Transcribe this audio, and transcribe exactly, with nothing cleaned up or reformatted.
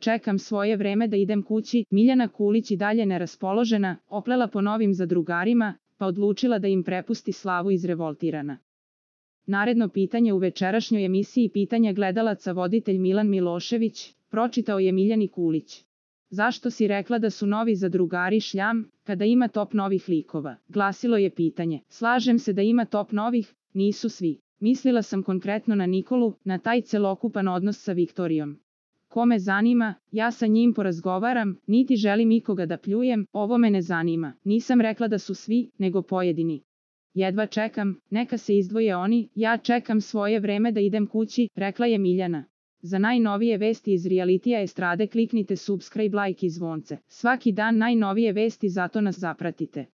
čekam svoje vreme da idem kući. Miljana Kulić i dalje neraspoložena, oplela po novim zadrugarima, pa odlučila da im prepusti slavu izrevoltirana. Naredno pitanje u večerašnjoj emisiji Pitanja gledalaca voditelj Milan Milošević pročitao je Miljani Kulić. Zašto si rekla da su novi zadrugari šljam, kada ima top novih likova? Glasilo je pitanje. Slažem se da ima top novih, nisu svi. Mislila sam konkretno na Nikolu, na taj celokupan odnos sa Viktorijom. Ko me zanima, ja sa njim porazgovaram, niti želim ikoga da pljujem, ovo me ne zanima. Nisam rekla da su svi, nego pojedini. Jedva čekam, neka se izdvoje oni, ja čekam svoje vreme da idem kući, rekla je Miljana. Za najnovije vesti iz realitija estrade kliknite subscribe, like i zvonce. Svaki dan najnovije vesti, zato nas zapratite.